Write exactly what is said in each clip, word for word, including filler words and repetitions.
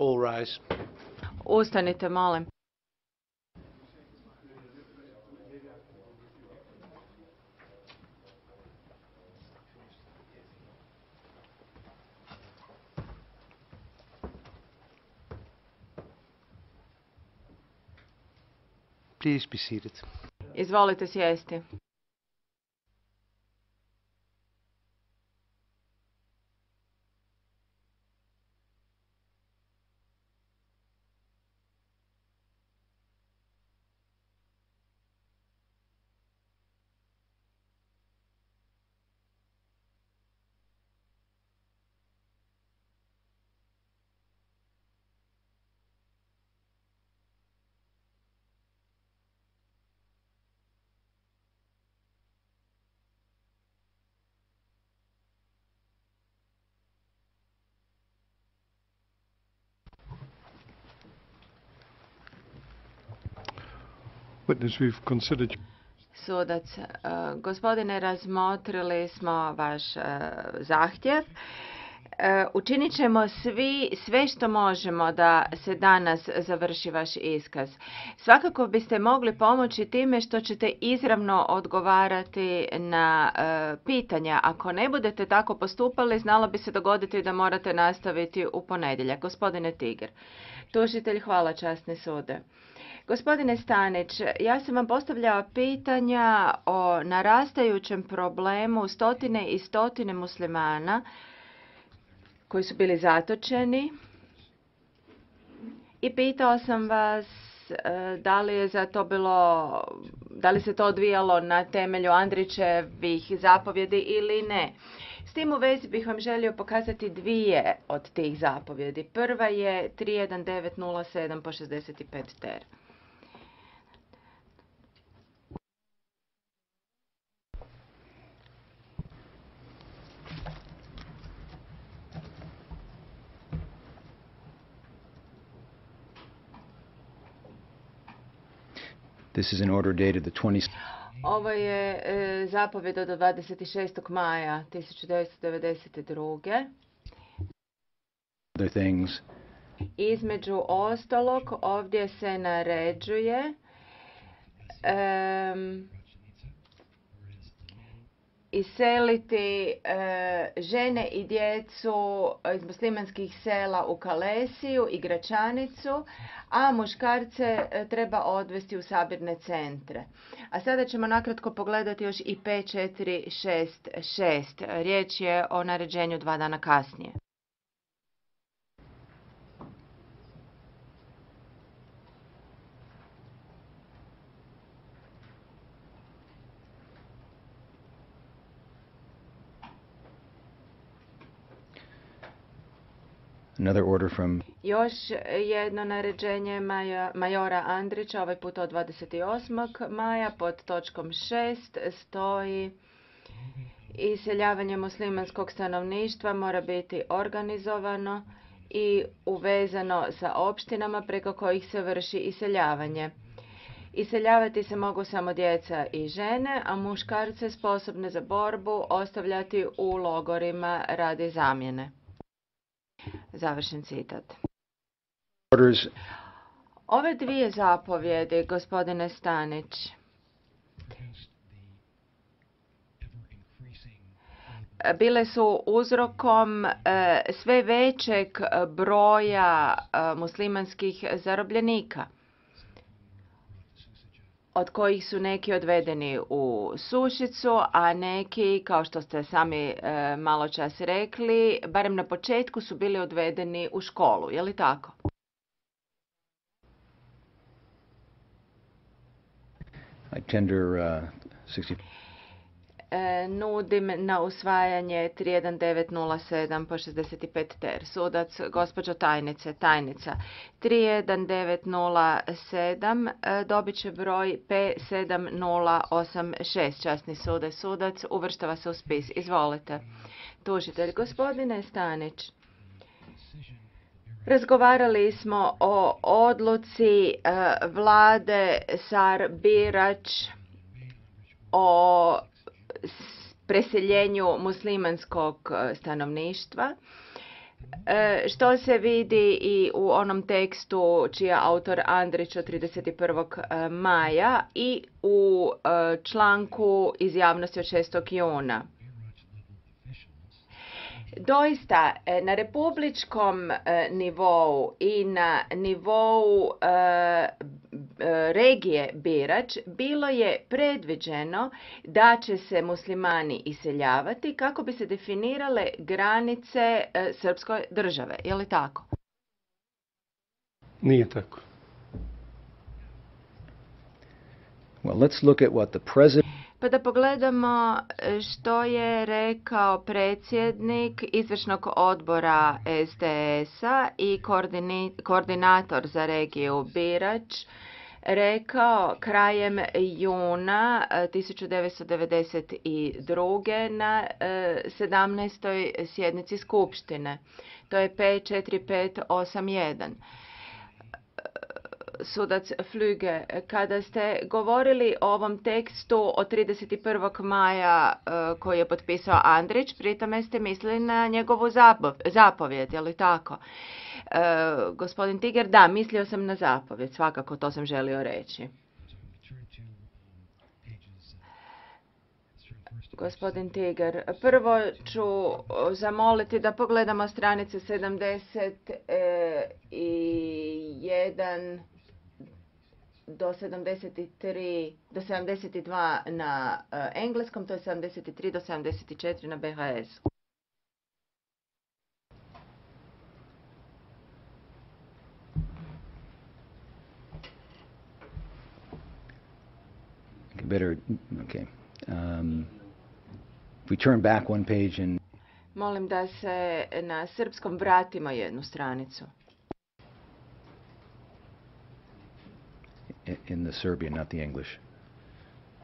All rise. Ustanite, molim. Please be seated. Izvolite sjesti. Witness, we've considered... Sudac, uh, gospodine, razmotrili smo vaš uh, zahtjev. Uh, učinit ćemo svi sve što možemo da se danas završi vaš iskaz. Svakako biste mogli pomoći time što ćete izravno odgovarati na uh, pitanja. Ako ne budete tako postupali, znalo bi se dogoditi da morate nastaviti u ponedjeljak. Gospodine Tiger. Tužitelj, hvala, časni sude. Gospodine Stanić, ja sam vam postavljala pitanja o narastajućem problemu stotine i stotine muslimana koji su bili zatočeni i pitao sam vas da li je za to bilo, da li se to odvijalo na temelju Andrićevih zapovjedi ili ne. S tim u vezi bih vam želio pokazati dvije od tih zapovjedi. Prva je tri jedan devet nula sedam po šezdeset pet ter. This is an order dated the twentieth. Ovo je e, zapovjed od dvadeset šestog maja tisuću devetsto devedeset druge. Other things. Između ostalog, ovdje se naređuje um, iseliti uh, žene i djecu iz muslimanskih sela u Kalesiju i Gračanicu, a muškarce uh, treba odvesti u sabirne centre. A sada ćemo nakratko pogledati još i pet četiri šest šest. Riječ je o naređenju dva dana kasnije. Another order from... Još jedno naređenje maja, majora Andrića, ovaj put od dvadeset osmog maja, pod točkom šest stoji: iseljavanje muslimanskog stanovništva mora biti organizovano i uvezano sa opštinama preko kojih se vrši iseljavanje. Iseljavati se mogu samo djeca i žene, a muškarce sposobne za borbu ostavljati u logorima radi zamjene. Završen citat. Ove dvije zapovjedi, gospodine Stanić, bile su uzrokom sve većeg broja muslimanskih zarobljenika, od kojih su neki odvedeni u Sušicu, a neki, kao što ste sami e, malo čas rekli, barem na početku su bili odvedeni u školu. Je li tako? I tender, uh, sixty... E, nudim na usvajanje tri jedan devet nula sedam po šezdeset pet ter. Sudac, gospođo tajnice, tajnica, tri jedan devet nula sedam e, dobit će broj P sedam nula osam šest. Časni sude, sudac, uvrštava se u spis. Izvolite. Tužitelj, gospodine Stanić, razgovarali smo o odluci e, vlade Sar-Birač o preseljenju muslimanskog stanovništva. e, što se vidi i u onom tekstu čiji je autor Andrić od trideset prvog maja i u e, članku iz javnosti od šestog juna. Doista, na republičkom nivou i na nivou regije Birač bilo je predviđeno da će se muslimani iseljavati kako bi se definirale granice srpske države. Je li tako? Nije tako. Well, let's look at what the president Pa da pogledamo što je rekao predsjednik izvršnog odbora S D S-a i koordinator za regiju Birač rekao krajem juna tisuću devetsto devedeset druge na sedamnaestoj sjednici Skupštine. To je P četiri pet osam jedan. Sudac Flüge, kada ste govorili o ovom tekstu od trideset prvog maja koji je potpisao Andrić, pri tome ste mislili na njegovu zapovjed, je li tako? E, gospodin Tiger, da, mislio sam na zapovjed, svakako to sam želio reći. Gospodin Tiger, prvo ću zamoliti da pogledamo stranice sedamdeset jedan do sedamdeset tri do sedamdeset dva na uh, engleskom, to je sedamdeset tri do sedamdeset četiri na B H S. better, okay. Um, if we turn back one page and Molim da se na srpskom vratimo jednu stranicu. In the Serbian, not the English.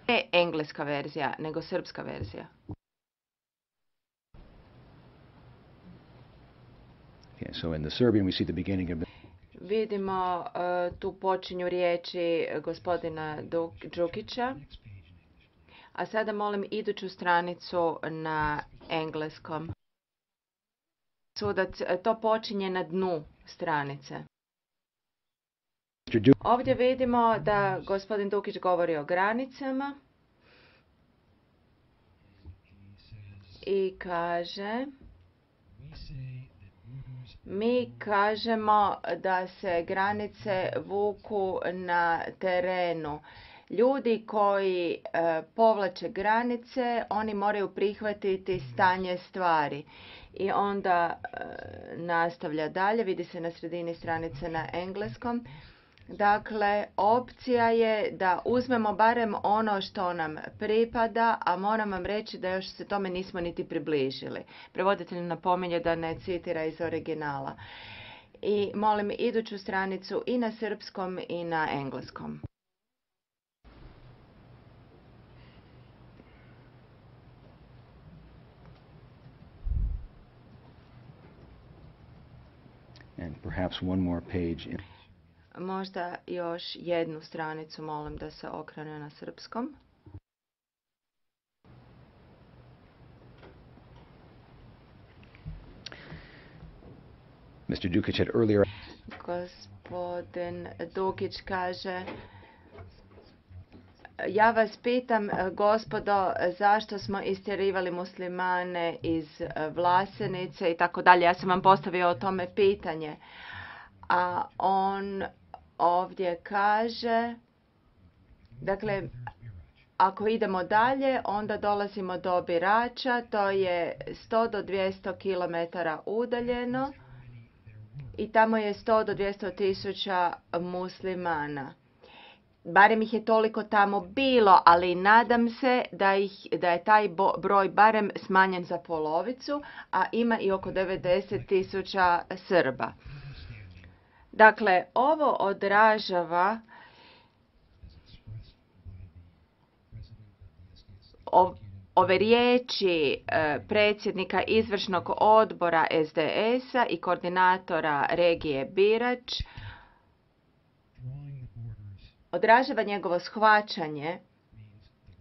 Ne engleska verzija, nego srpska verzija. Okay, so in the Serbian we see the beginning of the Vidimo uh, tu počinju riječi gospodina Đukića. A sada molim iduću stranicu na engleskom. Sudac, to počinje na dnu stranice. Ovdje vidimo da gospodin Dukić govori o granicama i kaže, mi kažemo da se granice vuku na terenu. Ljudi koji e, povlače granice, oni moraju prihvatiti stanje stvari. I onda e, nastavlja dalje, vidi se na sredini stranice na engleskom. Dakle, opcija je da uzmemo barem ono što nam pripada, a moram vam reći da još se tome nismo niti približili. Prevoditelj napominje da ne citira iz originala. I molim iduću stranicu i na srpskom i na engleskom. and perhaps one more page in Možda još jednu stranicu molim da se okrene na srpskom. Mister Dukić had earlier Gospodin Dukić kaže, ja vas pitam, gospodo, zašto smo istjerivali muslimane iz Vlasenice i tako dalje. Ja sam vam postavio o tome pitanje. A on ovdje kaže, dakle, ako idemo dalje, onda dolazimo do Birača, to je sto do dvjesto kilometara udaljeno i tamo je sto do dvjesto tisuća muslimana. Barem ih je toliko tamo bilo, ali nadam se da, ih, da je taj broj barem smanjen za polovicu, a ima i oko devedeset tisuća Srba. Dakle, ovo odražava ove riječi predsjednika izvršnog odbora S D S-a i koordinatora regije Birač, odražava njegovo shvaćanje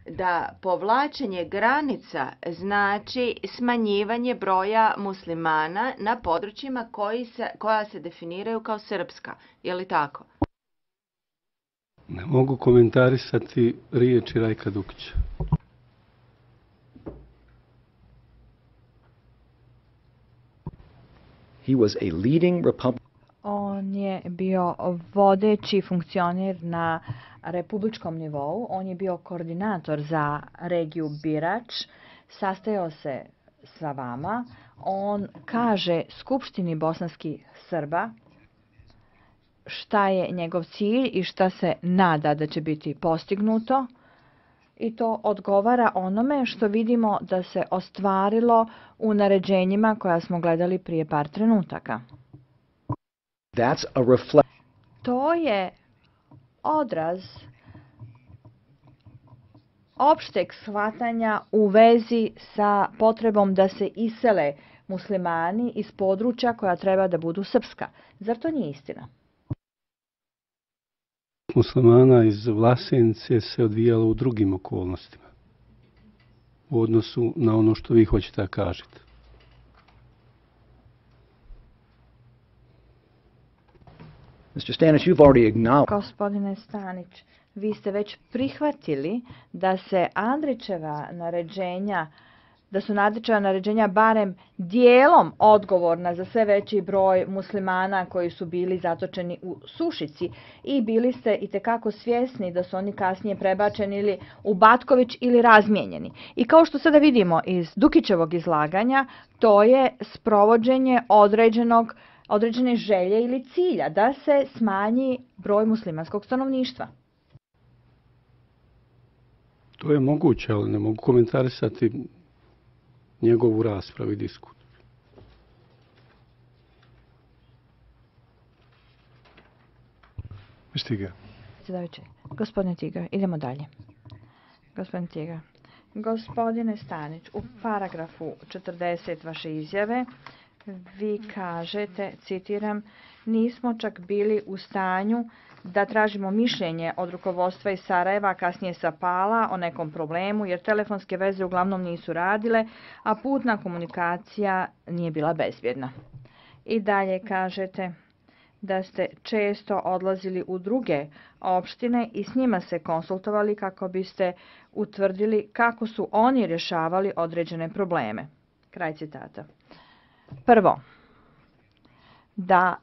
da povlačenje granica znači smanjivanje broja muslimana na područjima koji se, koja se definiraju kao srpska. Je li tako? Ne mogu komentarisati riječi Rajka Dukića. He was a leading Republican. On je bio vodeći funkcioner na republičkom nivou. On je bio koordinator za regiju Birač. Sastajao se sa vama. On kaže Skupštini bosanskih Srba šta je njegov cilj i šta se nada da će biti postignuto. I to odgovara onome što vidimo da se ostvarilo u naređenjima koja smo gledali prije par trenutaka. That's a reflect. To je odraz opšteg shvatanja u vezi sa potrebom da se isele muslimani iz područja koja treba da budu srpska. Zar to nije istina? Muslimana iz Vlasenice se odvijalo u drugim okolnostima u odnosu na ono što vi hoćete da kažete. Mister Stanić, you've already acknowledged. Gospodine Stanić, vi ste već prihvatili da se Andrićeva naređenja, da su Andrićeva naređenja barem dijelom odgovorna za sve veći broj muslimana koji su bili zatočeni u Sušici i bili ste itekako svjesni da su oni kasnije prebačeni ili u Batković ili razmijenjeni. I kao što sada vidimo iz Dukićevog izlaganja, to je sprovođenje određenog određene želje ili cilja da se smanji broj muslimanskog stanovništva. To je moguće, ali ne mogu komentarisati njegovu raspravu i diskut. Stiga. Gospodine Tiga, idemo dalje. Gospodine Tiga, gospodine Stanić, u paragrafu četrdeset vaše izjave vi kažete, citiram, nismo čak bili u stanju da tražimo mišljenje od rukovodstva iz Sarajeva, kasnije sa Pala, o nekom problemu, jer telefonske veze uglavnom nisu radile, a putna komunikacija nije bila bezbjedna. I dalje kažete da ste često odlazili u druge opštine i s njima se konsultovali kako biste utvrdili kako su oni rješavali određene probleme. Kraj citata. Prvo, da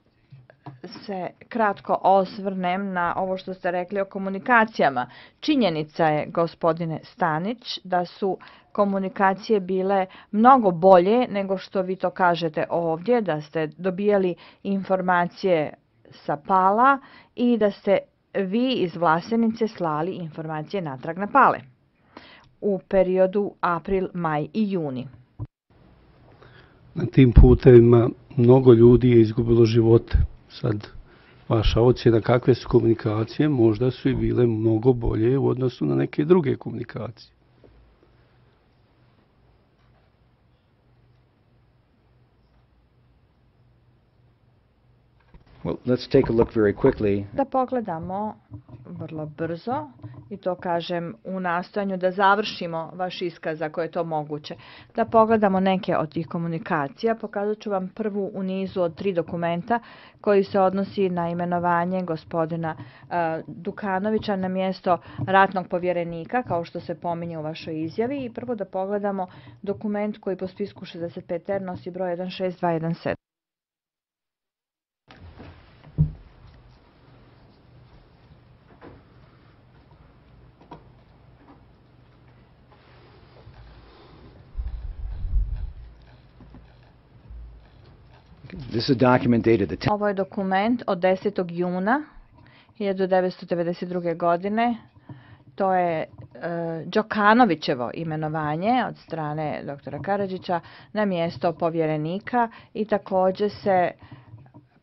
se kratko osvrnem na ovo što ste rekli o komunikacijama. Činjenica je, gospodine Stanić, da su komunikacije bile mnogo bolje nego što vi to kažete ovdje, da ste dobijali informacije sa Pala i da ste vi iz Vlasenice slali informacije natrag na Pale u periodu april, maj i juni. Na tim putevima mnogo ljudi je izgubilo živote. Sad, vaša ocjena kakve su komunikacije, možda su i bile mnogo bolje u odnosu na neke druge komunikacije. Well, let's take a look very quickly. Da pogledamo vrlo brzo, i to kažem u nastojanju da završimo vaš iskaz ako je to moguće. Da pogledamo neke od tih komunikacija. Pokazat ću vam prvu u nizu od tri dokumenta koji se odnosi na imenovanje gospodina uh, Dukanovića na mjesto ratnog povjerenika, kao što se pominje u vašoj izjavi. I prvo da pogledamo dokument koji po spisku šezdeset pet er nosi broj jedan šest dva jedan sedam. This is a document dated the Ovo je dokument od desetog juna hiljadu devetsto devedeset druge. godine. To je e, Đokanovićevo imenovanje od strane doktora Karadžića na mjesto povjerenika i također se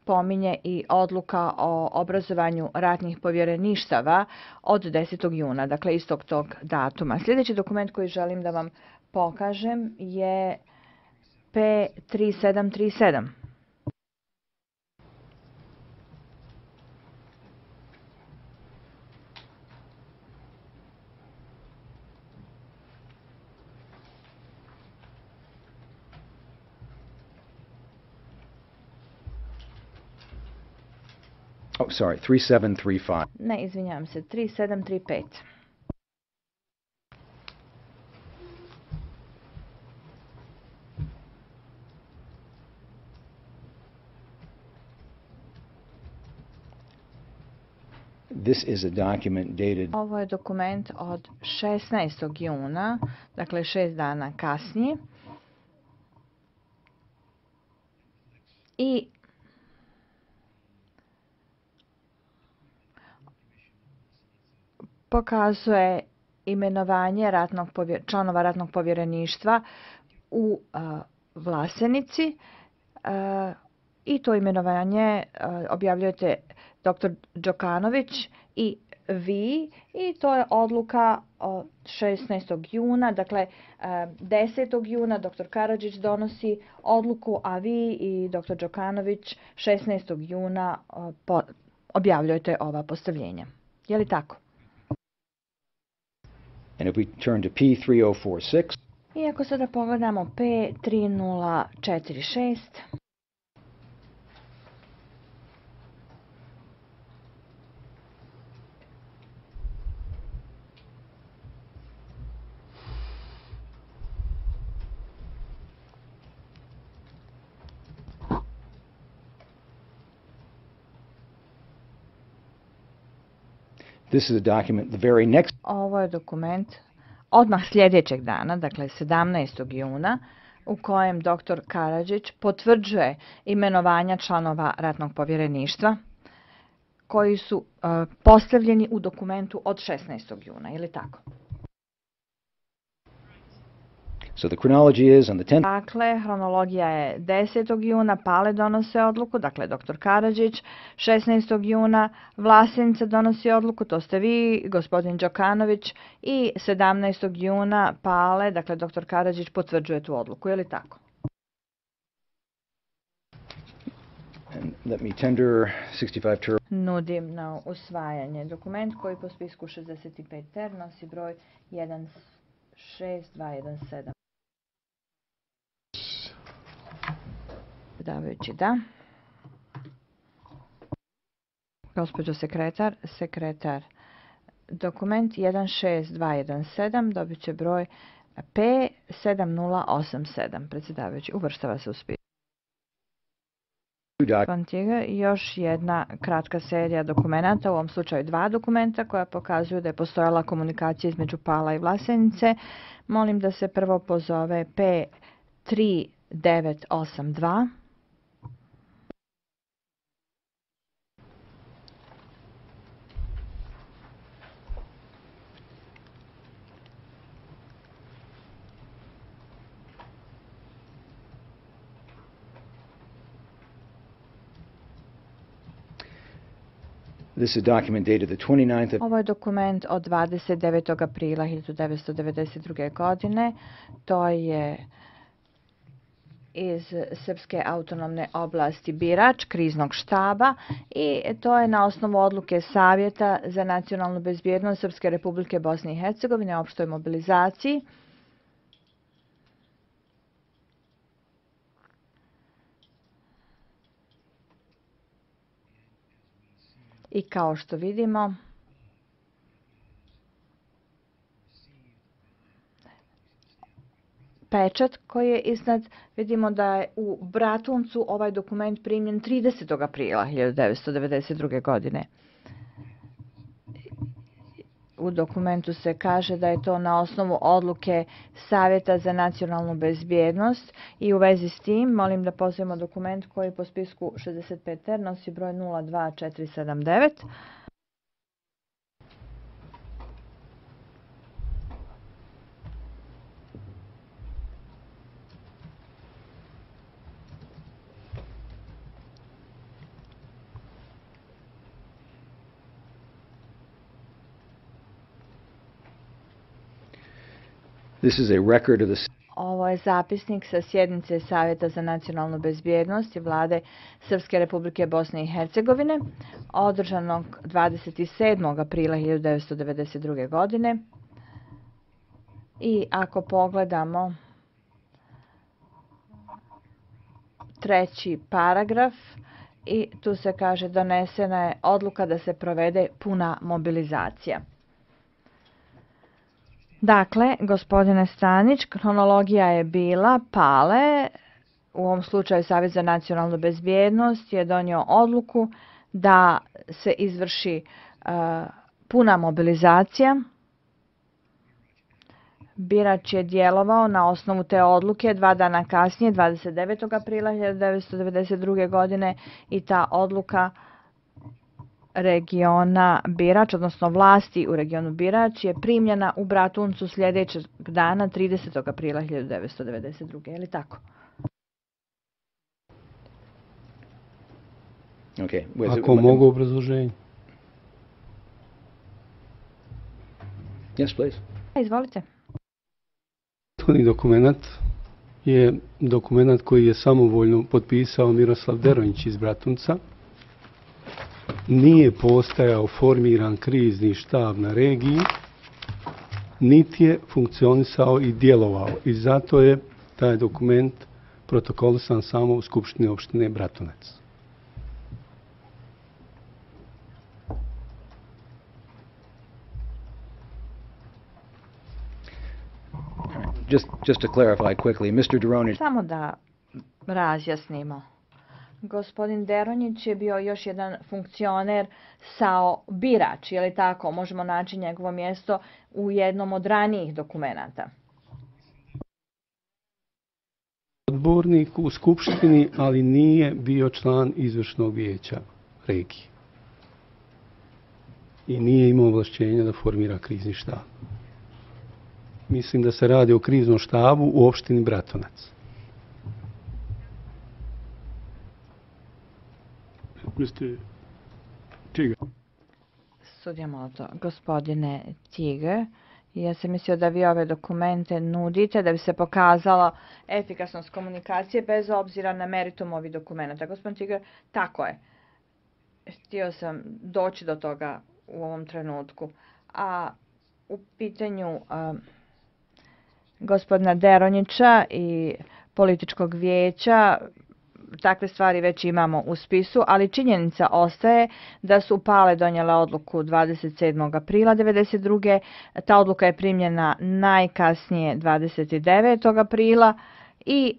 pominje i odluka o obrazovanju ratnih povjereništava od desetog juna, dakle istog tog datuma. Sljedeći dokument koji želim da vam pokažem je P tri sedam tri sedam. Oh, sorry, three seven three five. Ne, izvinjavam se, tri sedam tri pet. This is a document dated Ovo je dokument od šesnaestog juna, dakle šest dana kasnije. I pokazuje imenovanje ratnog povjer, članova ratnog povjereništva u a, Vlasenici a, i to imenovanje a, objavljujete doktor Đokanović i vi i to je odluka od šesnaestog juna, dakle a, desetog juna doktor Karadžić donosi odluku, a vi i doktor Đokanović šesnaestog juna a, po, objavljujete ova postavljenja. Je li tako? And if we turn to P three oh four six, I ako sada pogledamo P tri nula četiri šest, this is a document the very next ovo je dokument odmah sljedećeg dana, dakle sedamnaestog juna, u kojem doktor Karadžić potvrđuje imenovanja članova ratnog povjereništva koji su uh, postavljeni u dokumentu od šesnaestog juna, je li tako? So the chronology is on the tenth. Dakle, hronologija je desetog juna, Pale donose odluku, dakle doktor Karadžić, šesnaestog juna, Vlasenica donosi odluku, to ste vi, gospodin Đokanović, i sedamnaestog juna Pale, dakle doktor Karadžić potvrđuje tu odluku, je li tako? And let me tender sixty-five ter. Nudim na usvajanje dokument koji po spisku šezdeset pet ter nosi broj jedan šest dva jedan sedam. Predsjedavajući, da. Gospođo sekretar, sekretar, dokument jedan šest dva jedan sedam dobit će broj P sedam nula osam sedam. Predsjedavajući, uvrštava se u spis. Još jedna kratka serija dokumenata, u ovom slučaju dva dokumenta koja pokazuju da je postojala komunikacija između Pala i Vlasenice. Molim da se prvo pozove P tri devet osam dva. This is a document dated the twenty-ninth of Ovo je dokument od dvadeset devetog aprila hiljadu devetsto devedeset druge. godine. To je iz Srpske autonomne oblasti Birač, kriznog štaba, i to je na osnovu odluke Savjeta za nacionalnu bezbjednost Srpske Republike Bosne i Hercegovine o opštoj mobilizaciji. I kao što vidimo, pečat koji je iznad, vidimo da je u Bratuncu ovaj dokument primljen tridesetog aprila hiljadu devetsto devedeset druge. godine. U dokumentu se kaže da je to na osnovu odluke Savjeta za nacionalnu bezbjednost i u vezi s tim molim da pozovemo dokument koji po spisku šezdeset pet ter nosi broj nula dva četiri sedam devet. This is a record of the Ovo je zapisnik sa sjednice Savjeta za nacionalnu bezbjednost i Vlade Srpske Republike Bosne i Hercegovine, održanog dvadeset sedmog aprila hiljadu devetsto devedeset druge. godine. I ako pogledamo treći paragraf i tu se kaže donesena je odluka da se provede puna mobilizacija. Dakle, gospodine Stanić, kronologija je bila Pale, u ovom slučaju Savjet za nacionalnu bezbjednost je donio odluku da se izvrši uh, puna mobilizacija. Birač je djelovao na osnovu te odluke dva dana kasnije, dvadeset devetog aprila hiljadu devetsto devedeset druge. godine, i ta odluka regiona Birač, odnosno vlasti u regionu Birač, je primljena u Bratuncu sljedećeg dana, tridesetog aprila hiljadu devetsto devedeset druge. Je li tako? Okay. Was it- Ako mogu obrazloženje. Yes, please. Izvolite. Prethodni dokumenat je dokumenat koji je samovoljno potpisao Miroslav Deronjić iz Bratunca. Nije postajao formiran krizni štab na regiji, niti je funkcionisao i djelovao. I zato je taj dokument protokolisan samo u Skupštini opštine Bratunac. Just, just to clarify quickly, Mister Deronjić, Samo da razjasnimo. Gospodin Deronjić je bio još jedan funkcioner sao Birač, je li tako? Možemo naći njegovo mjesto u jednom od ranijih dokumenata. Odbornik u Skupštini, ali nije bio član izvršnog vijeća regije. I nije imao ovlašćenja da formira krizni štab. Mislim da se radi o kriznom štabu u opštini Bratunac. mister Tiger. Sudija Molto, gospodine Tiger, ja sam mislio da vi ove dokumente nudite da bi se pokazala efikasnost komunikacije bez obzira na meritum ovih dokumenta. Gospodin Tiger, tako je. Htio sam doći do toga u ovom trenutku. A u pitanju a, gospodina Deronjića i političkog vijeća, takve stvari već imamo u spisu, ali činjenica ostaje da su Pale donijela odluku dvadeset sedmog aprila devedeset druge. Ta odluka je primljena najkasnije dvadeset devetog aprila i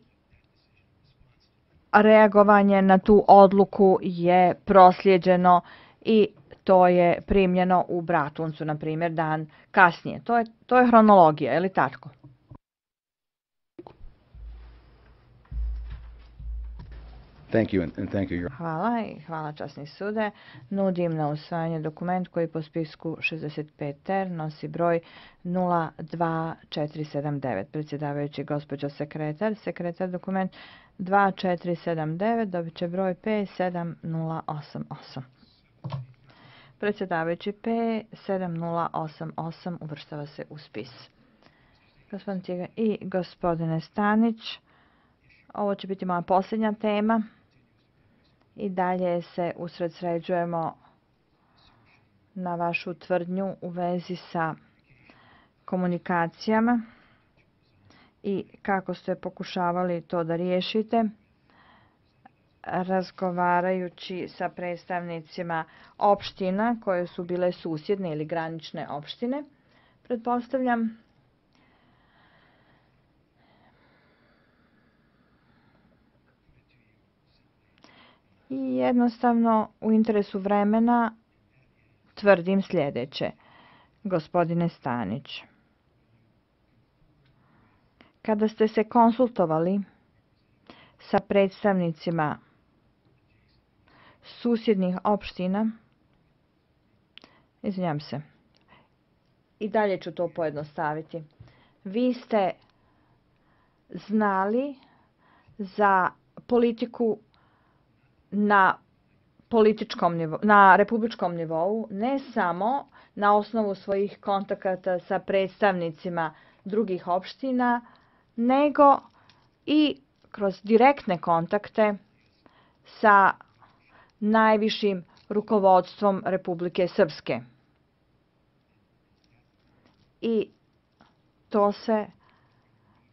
reagovanje na tu odluku je proslijeđeno i to je primljeno u Bratuncu, na primjer, dan kasnije. To je, to je hronologija, je li tako? thank you, and, and thank you, Your Hvala i hvala časni sude. Nudim na usvajanje dokument koji po spisku šezdeset pet ter nosi broj nula dva četiri sedam devet. Predsjedavajući gospođa sekretar, sekretar dokument dva četiri sedam devet dobit će broj P sedam nula osam osam. Predsjedavajući P sedam nula osam osam uvrštava se u spis. Gospodin Tiga i gospodine Stanić, ovo će biti moja posljednja tema. I dalje se usredsređujemo na vašu tvrdnju u vezi sa komunikacijama i kako ste pokušavali to da riješite, razgovarajući sa predstavnicima opština koje su bile susjedne ili granične opštine. Pretpostavljam i jednostavno u interesu vremena tvrdim sljedeće. Gospodine Stanić, kada ste se konsultovali sa predstavnicima susjednih opština, izvinjam se, i dalje ću to pojednostaviti, vi ste znali za politiku na političkom nivou, na republičkom nivou, ne samo na osnovu svojih kontakata sa predstavnicima drugih opština, nego i kroz direktne kontakte sa najvišim rukovodstvom Republike Srpske. I to se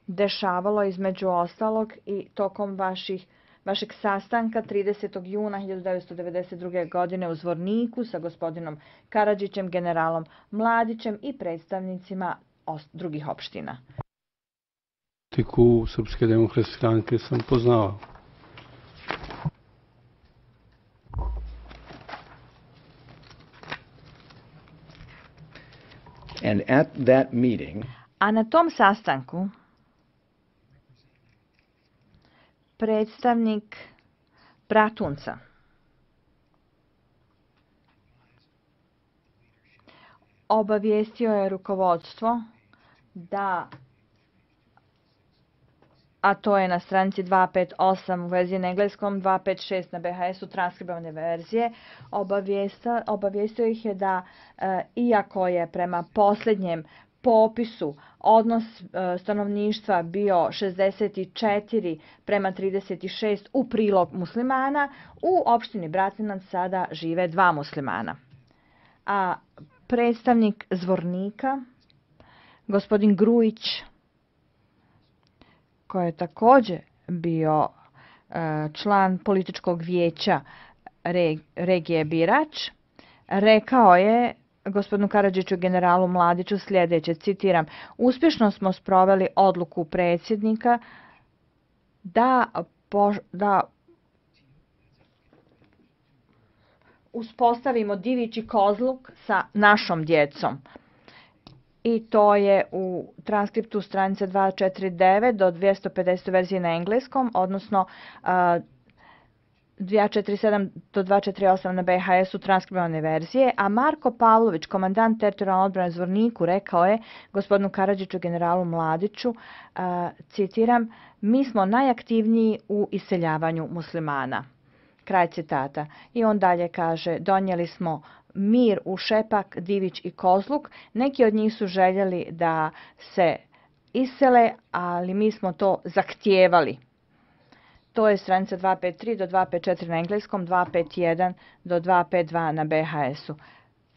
dešavalo između ostalog i tokom vaših vašeg sastanka tridesetog juna hiljadu devetsto devedeset druge. godine u Zvorniku sa gospodinom Karadžićem, generalom Mladićem i predstavnicima drugih opština. Politiku Srpske demokratske stranke sam poznao. And at that meeting, A na tom sastanku predstavnik Bratunca obavijestio je rukovodstvo da, a to je na stranici dvesta pedeset osam u verziji na engleskom, dvesta pedeset šest na B H S-u transkribovane verzije, obavijestio ih je da, e, iako je prema posljednjem popisu odnos e, stanovništva bio šezdeset četiri prema trideset šest u prilog muslimana, u opštini Bratunac sada žive dva muslimana. A predstavnik Zvornika, gospodin Grujić, koji je također bio e, član političkog vijeća regije Birač, rekao je gospodinu Karadžiću i generalu Mladiću sljedeće, citiram: uspješno smo sproveli odluku predsjednika da, po, da uspostavimo divići kozluk sa našom djecom. I to je u transkriptu stranice dvesta četrdeset devet do dvesta pedeset verzije na engleskom, odnosno uh, dvesta četrdeset sedam do dvesta četrdeset osam na B H S-u transkribovane verzije, a Marko Pavlović, komandant teritorijalne odbrane Zvorniku, rekao je gospodinu Karadžiću i generalu Mladiću, uh, citiram: mi smo najaktivniji u iseljavanju muslimana. Kraj citata. I on dalje kaže: donijeli smo mir u Šepak, Divić i Kozluk. Neki od njih su željeli da se isele, ali mi smo to zahtijevali. To je stranica dvesta pedeset tri do dvesta pedeset četiri na engleskom, dvesta pedeset jedan do dvesta pedeset dva na B H S-u.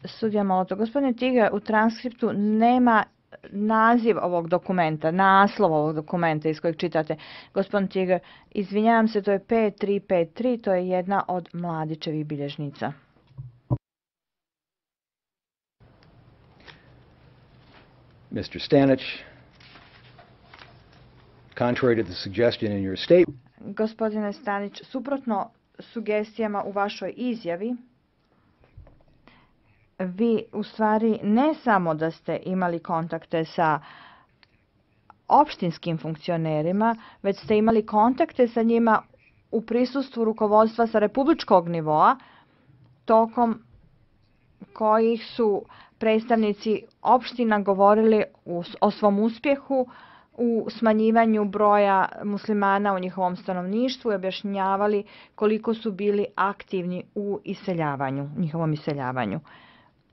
Sudija Molotov, gospodine Tiga, u transkriptu nema naziv ovog dokumenta, naslov ovog dokumenta iz kojeg čitate. Gospodin Tiga, izvinjavam se, to je pet tri pet tri, to je jedna od Mladićevih bilježnica. Mister Stanić, contrary to the suggestion in your statement, gospodine Stanić, suprotno sugestijama u vašoj izjavi, vi u stvari ne samo da ste imali kontakte sa opštinskim funkcionerima, već ste imali kontakte sa njima u prisustvu rukovodstva sa republičkog nivoa, tokom kojih su predstavnici opština govorili o svom uspjehu u smanjivanju broja muslimana u njihovom stanovništvu i objašnjavali koliko su bili aktivni u iseljavanju, njihovom iseljavanju.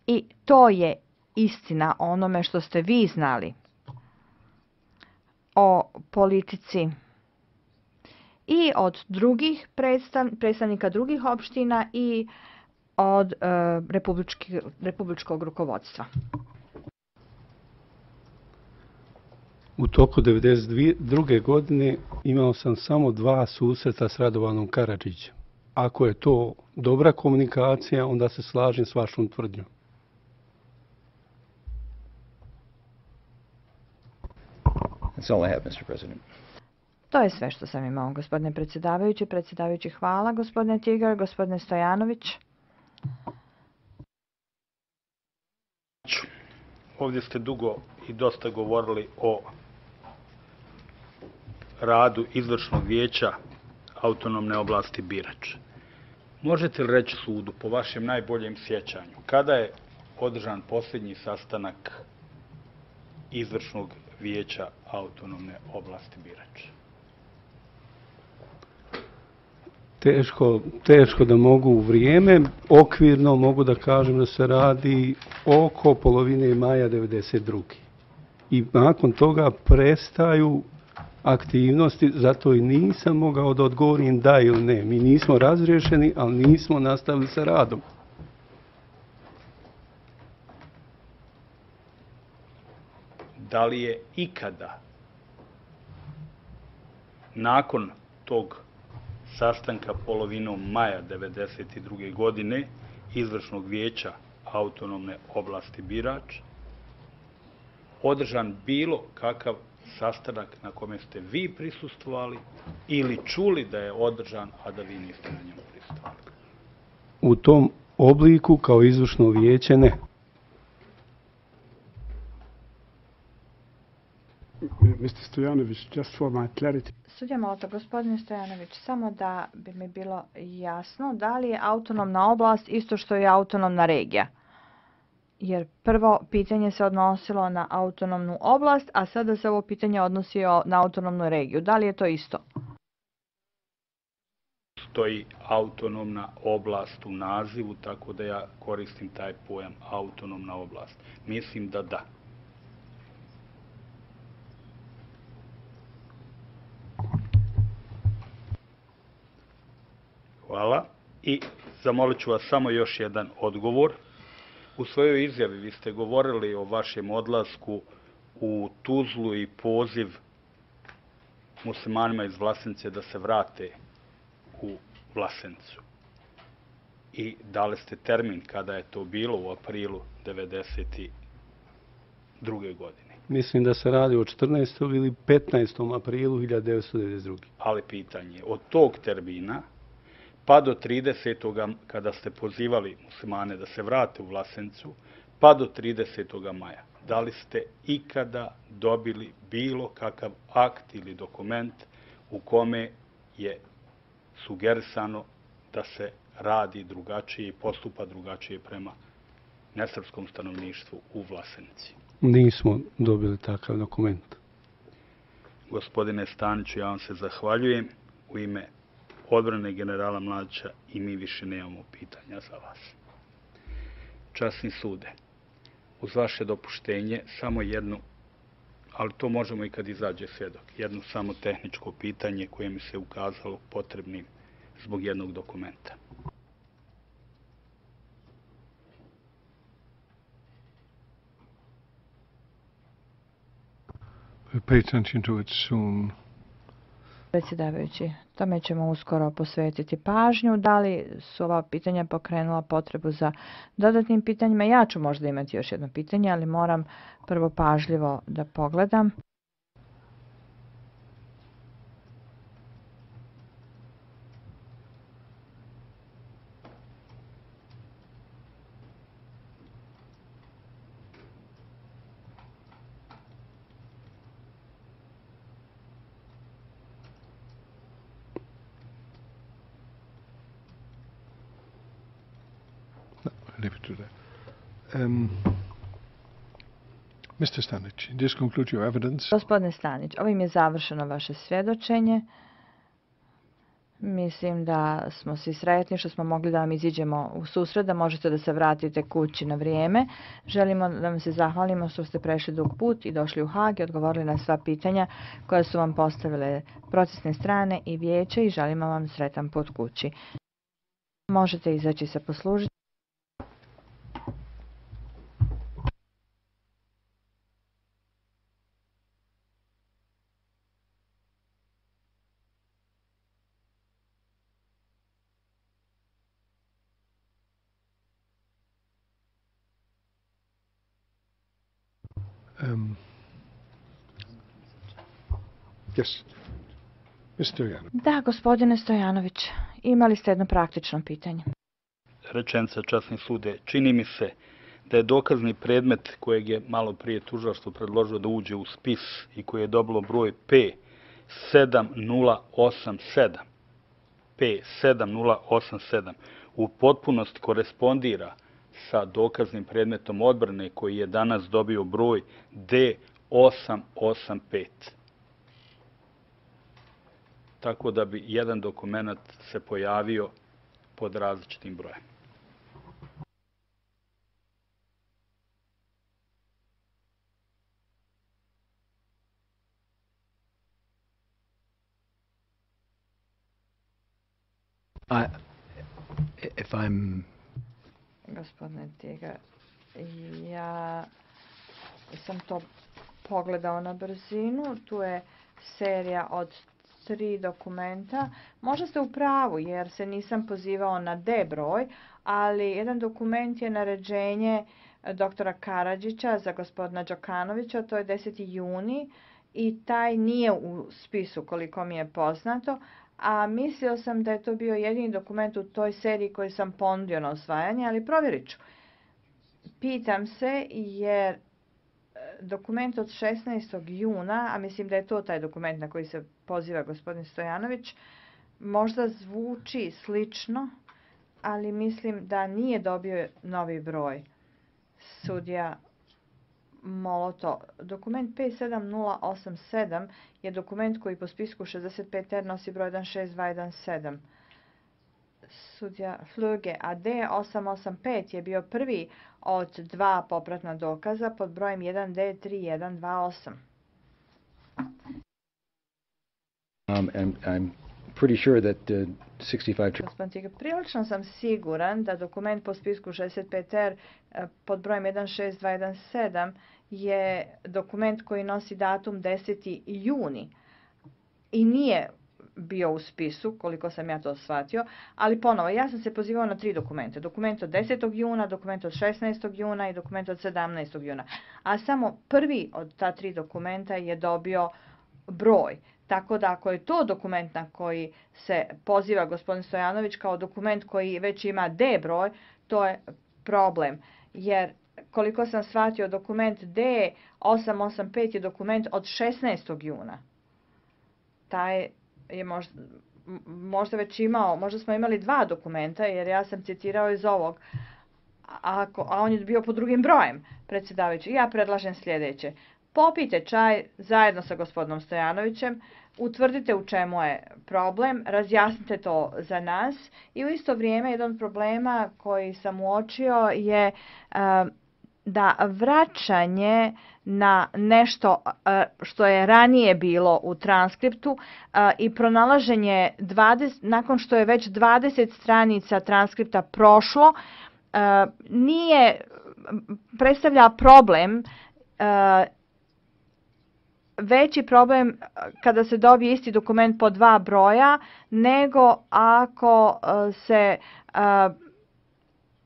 I to je istina onome što ste vi znali o politici i od drugih predstav, predstavnika drugih opština i od uh, republički, republičkog rukovodstva. U toku devedeset druge. godine imao sam samo dva susreta s Radovanom Karadžićem. Ako je to dobra komunikacija, onda se slažem s vašom tvrdnjom. that's all I have, Mister President. To je sve što sam imao, gospodine predsjedavajući. Predsjedavajući, hvala, gospodine Tigar. Gospodine Stojanović. Ovdje ste dugo i dosta govorili o radu izvršnog vijeća autonomne oblasti Birač. Možete li reći sudu, po vašem najboljem sjećanju, kada je održan posljednji sastanak izvršnog vijeća autonomne oblasti Birač? Teško, teško da mogu u vrijeme, okvirno mogu da kažem da se radi oko polovine maja devedeset druge. I nakon toga prestaju aktivnosti, zato i nisam mogao da odgovorim da ili ne. Mi nismo razriješeni, ali nismo nastavili sa radom. Da li je ikada nakon tog sastanka polovinom maja devedeset druge. godine Izvršnog vijeća autonomne oblasti Birač održan bilo kakav sastanak na kome ste vi prisustvovali ili čuli da je održan, a da vi niste na njemu prisustvovali? U tom obliku kao izvršno vijeće ne. mister Stojanović, just for my clarity. Sudija Molota, gospodine Stojanović, samo da bi mi bilo jasno, da li je autonomna oblast isto što je autonomna regija? Jer prvo pitanje se odnosilo na autonomnu oblast, a sada se ovo pitanje odnosi na autonomnu regiju. Da li je to isto? Stoji autonomna oblast u nazivu, tako da ja koristim taj pojam autonomna oblast. Mislim da da. Hvala. I zamolit ću vas samo još jedan odgovor. U svojoj izjavi vi ste govorili o vašem odlasku u Tuzlu i poziv muslimanima iz Vlasenice da se vrate u Vlasenicu. I dali ste termin kada je to bilo u aprilu devedeset druge. godine. Mislim da se radi o četrnaestom ili petnaestom aprilu hiljadu devetsto devedeset druge. Ali pitanje, od tog termina pa do tridesetog kada ste pozivali muslimane da se vrate u Vlasenicu, pa do tridesetog maja, da li ste ikada dobili bilo kakav akt ili dokument u kome je sugerisano da se radi drugačije i postupa drugačije prema nesrpskom stanovništvu u Vlasenici? Nismo dobili takav dokument. Gospodine Staniću, ja vam se zahvaljujem u ime odbrane generala Mladića i mi više nemamo pitanja za vas. Časni sude, uz vaše dopuštenje samo jednu, ali to možemo i kad izađe svjedok, jedno samo tehničko pitanje koje mi se ukazalo potrebnim zbog jednog dokumenta. Pay attention to it soon. Predsjedavajući, tome ćemo uskoro posvetiti pažnju. Da li su ova pitanja pokrenula potrebu za dodatnim pitanjima? Ja ću možda imati još jedno pitanje, ali moram prvo pažljivo da pogledam. Leave it to that. Um, mister Stanic, this concludes your evidence. Gospodine Stanić, ovim je završeno vaše svjedočenje. Mislim da smo svi sretni što smo mogli da vam iziđemo u susret, da možete da se vratite kući na vrijeme. Želimo da vam se zahvalimo što ste prešli dug put i došli u Hag i odgovorili na sva pitanja koja su vam postavile procesne strane i vijeće i želimo vam sretan put kući. Možete izaći se poslužiti. Um, yes. mister Stojanović. Da, gospodine Stojanović, imali ste jedno praktično pitanje. Rečenica, časni sude, čini mi se da je dokazni predmet kojeg je malo prije tužilaštvo predložilo da uđe u spis i koji je dobilo broj P sedam nula osam sedam, P sedam nula osam sedam, u potpunosti korespondira sa dokaznim predmetom odbrane koji je danas dobio broj D osam osam pet. Tako da bi jedan dokument se pojavio pod različitim brojem. I, if I'm Gospodine Tiga, ja sam to pogledao na brzinu. Tu je serija od tri dokumenta. Možda ste u pravu jer se nisam pozivao na D broj, ali jedan dokument je naređenje doktora Karadžića za gospodina Đokanovića, to je deseti juni i taj nije u spisu koliko mi je poznato, a mislio sam da je to bio jedini dokument u toj seriji koji sam ponudio na usvajanje, ali provjerit ću. Pitam se jer dokument od šesnaestog juna, a mislim da je to taj dokument na koji se poziva gospodin Stojanović, možda zvuči slično, ali mislim da nije dobio novi broj. Sudija Moloto. Dokument P sedam nula osam sedam je dokument koji po spisku šezdeset pet R nosi broj jedan šest dva jedan sedam. Sudija Fluge, a D osam osam pet je bio prvi od dva popratna dokaza pod brojem jedan D tri jedan dva osam. Um, and I'm pretty sure that uh, sixty-five... Gospodin Tiga, prilično sam siguran da dokument po spisku šezdeset pet R pod brojem jedan šest dva jedan sedam je dokument koji nosi datum deseti juni i nije bio u spisu, koliko sam ja to shvatio, ali ponovo, ja sam se pozivao na tri dokumenta. Dokument od desetog juna, dokument od šesnaestog juna i dokument od sedamnaestog juna. A samo prvi od ta tri dokumenta je dobio broj. Tako da ako je to dokument na koji se poziva gospodin Stojanović kao dokument koji već ima D broj, to je problem. Jer koliko sam shvatio, dokument D osam osam pet je dokument od šesnaestog juna. Taj je možda, možda već imao, možda smo imali dva dokumenta, jer ja sam citirao iz ovog, a, a on je bio pod drugim brojem, predsjedavajući. Ja predlažem sljedeće. Popijte čaj zajedno sa gospodinom Stojanovićem, utvrdite u čemu je problem, razjasnite to za nas i u isto vrijeme jedan od problema koji sam uočio je uh, da vraćanje na nešto što je ranije bilo u transkriptu i pronalaženje dvadeset, nakon što je već dvadeset stranica transkripta prošlo, nije, predstavlja problem, veći problem kada se dobije isti dokument po dva broja, nego ako se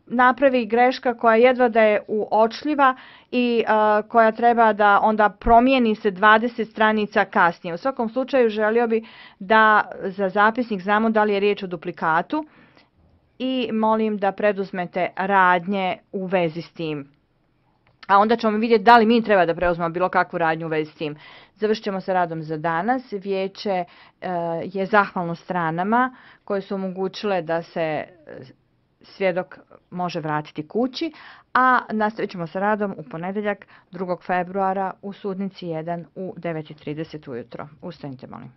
napravi greška koja jedva da je uočljiva i uh, koja treba da onda promijeni se dvadeset stranica kasnije. U svakom slučaju želio bi da za zapisnik znamo da li je riječ o duplikatu i molim da preduzmete radnje u vezi s tim. A onda ćemo vidjeti da li mi treba da preuzmemo bilo kakvu radnju u vezi s tim. Završit ćemo sa radom za danas. Vijeće uh, je zahvalno stranama koje su omogućile da se svjedok može vratiti kući, a nastavit ćemo sa radom u ponedjeljak drugog februara u sudnici jedan u devet i trideset ujutro. Ustanite, molim.